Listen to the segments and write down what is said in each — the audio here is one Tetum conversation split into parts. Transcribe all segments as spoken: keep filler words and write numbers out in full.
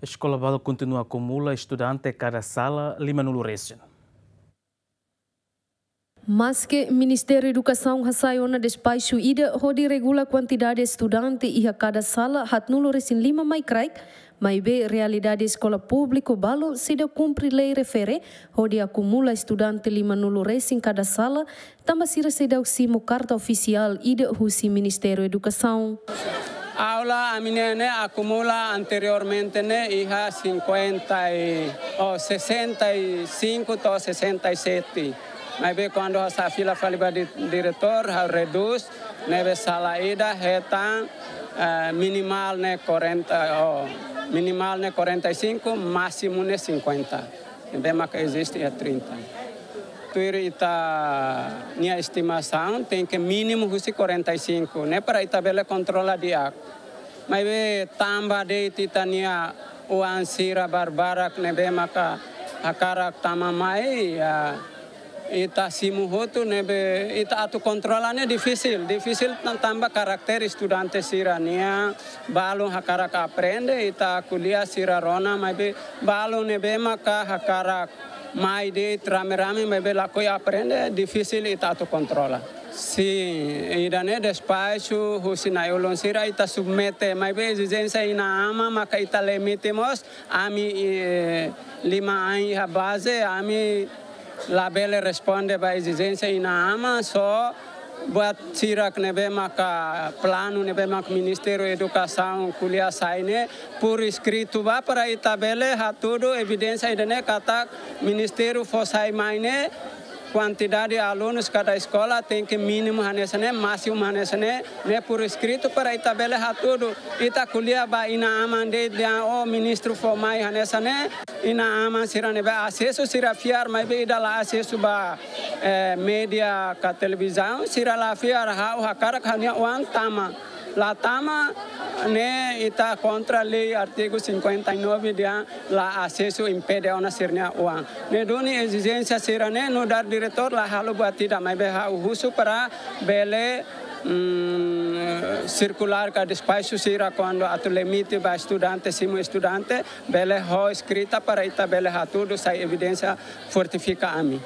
Eskola balu kontinua akumula estudante kada sala lima nulu resin. Maske Ministériu Edukasaun hasai ona despaxu ida hodi regula kuantidade estudante iha kada sala haat nulu resin lima mai kraik, maibé realidade eskola públiku balu seidauk kumpre lei refere hodi akumula estudante lima nulu resin kada sala, tanba sira seidauk simu karta ofisiál ida husi Ministériu Edukasaun. Aula ami-nia ne'e akumula anteriormente ne'e iha cinquenta e, oh, sessenta e cinco to'o sessenta e sete. Maibé kuandu ha'u fila fali ba di-, diretór, ha'u redús, ne'ebé sala ida hetan, eh, minimál ne'e quarenta, oh, minimál ne'e quarenta e cinco, másimu ne'e cinquenta. Ne'ebé maka eziste iha trinta. Tuir ita-nia estimasaun, tenke mínimu husi quarenta e cinco, ne'e para ita bele kontrola di'ak. Maibé tanba de'it ita-nia oan sira barbarak ne'ebé maka hakarak tama mai, ya, ita simu hotu ne'ebé ita atu kontrola ne'e difisil, difisil tan-, tanba karakter estudante sira-nian, balun hakarak aprende, ita ko'alia sira rona, maibé balun ne'ebé maka hakarak mai de'it rame-rame, maibé lakohi aprende, difisil ita atu kontrola. Sin, ida-ne'e despaxu husi na'i-ulun sira ita submete, maibé ezijénsia inan-aman maka ita limite mós, ami, eh, lima ain iha baze, ami labele responde ba ezijénsia inan-aman, só buat sira ne'ebé maka planu ne'ebé maka Ministériu Edukasaun ko'alia sai ne'e, por escrito ba para ita bele hatudu evidénsia ida-ne'e katak Ministériu fó sai mai ne'e, kuantidade alunus kada eskola tenke mínimu hanesan ne'e, másimu hanesan ne'e, ne'e por escrito para ita bele hatudu. Ita ko'alia ba inan-aman de'it dehan, oh, ministru fó mai hanesan ne'e, inan-aman sira ne'ebé asesu sira fiar, maibé ida la asesu ba, eh, média ka televizaun, sira la fiar, ha'u hakarak ha'u-nia oan tama. La tama, ne'e ita kontra lei artigu cinquenta e nove dehan la asesu, impede ona sira-nia oan. Ne'e duni ezijénsia sira-ne'e nu'udar diretór la halo buat ida, maibé ha'u husu para bele, mm, sirkulár ka despaxu sira kuandu atu limite ba estudante, simu estudante, bele ho eskrita para ita bele hatudu sai evidénsia fortifika ami.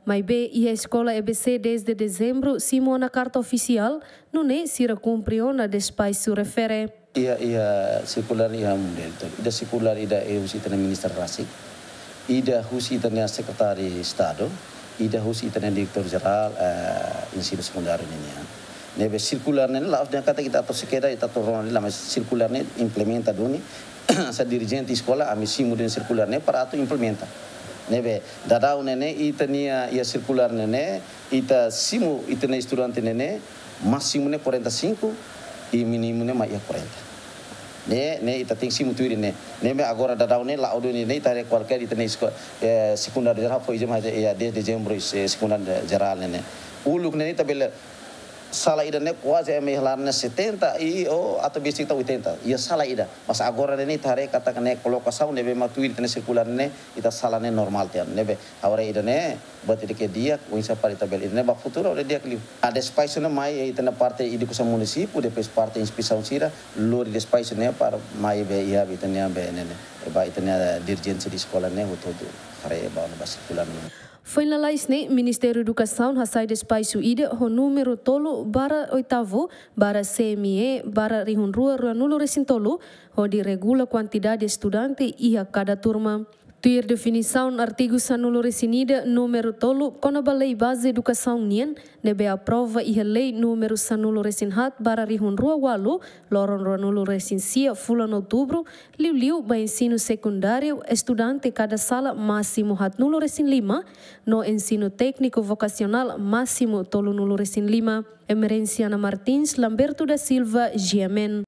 Maibé iha eskola E B C dez de dezembru simu ona karta ofisiál, nune'e sira kumpre ona despaxu refere. Iha, iha sirkulár iha mundial. Ida sirkulár ida husi ita-nia ministra rasik, ida husi ita-nia sekretáriu Estadu, ida husi ita-nia diretór jerál, eh, ensinu sekundáriu ninian. Ne'ebé sirkulár ne'e la'ós dehan katak ita atu sekeda, ita atu rona de'it, mas sirkulár ne'e implementa duni, hanesan dirijente eskola, ami simu duni sirkulár ne'e para atu implementa. Ne'ebé daudaun ne'e ne'e, ita-nia, iha sirkulár ne'e ne'e, ita simu ita-nia estudante ne'e ne'e, másimu ne'e quarenta e cinco, i mínimu ne'e mai iha quarenta. Ne'e, ne'e ita tenke simu tuir ne'e. Ne'ebé agora daudaun ne'e la'o duni ne'e, ita haree kualkér ita-nia esko-, eh, sekundáriu jerál foin izin mai iha dez dezembru, eh, sekundáriu jerál ne'e ne'e. Uluk ne'e ne'e ita bele sala ida ne'e kuaze ema iha laran ne'e setenta i, oh, atu besik to'o oitenta. Iha sala ida. Mas agora ne'e ne'e ita haree katak ne'e kolokasaun ne'ebé mak tuir ita-nia sirkulár ne'e, ita sala ne'e normál tiha. Ne'ebé agora ida-ne'e buat ida ke di'ak, oinsá para ita bele ida-ne'e ba futuru hodi di'ak liu. A despaxu ne'e mai, eh, ita-nia parte edukasaun munisípiu, depois parte inspesaun sira, lori despaxu ne'e para mai be iha ita-nia be ne'e ne'e. Ba ita-nia dirijente de eskola ne'e, hotu-hotu haree ba, ba sirkulár ne'e. Foin lalais ne'e, Ministériu Edukasaun hasai despaxu ida ho númeru tolu barra oitavu barra C M E barra rihun rua ruanulu resin tolu, hodi regula kuantidade estudante iha kada turma. Tuir definisaun artigu sanulu resin ida, númeru tolu, kona-ba lei baze edukasaun nian, ne'ebé aprova iha lei númeru sanulu resin haat barra rihun rua ualu, loron ruanulu resin sia, fulan outubru, liuliu ba ensinu sekundáriu, estudante kada sala másimu haatnulu resin lima, no ensinu tékniku vokasionál másimu tolunulu resin lima. Emerenciana Martins, Lamberto da Silva, G M N.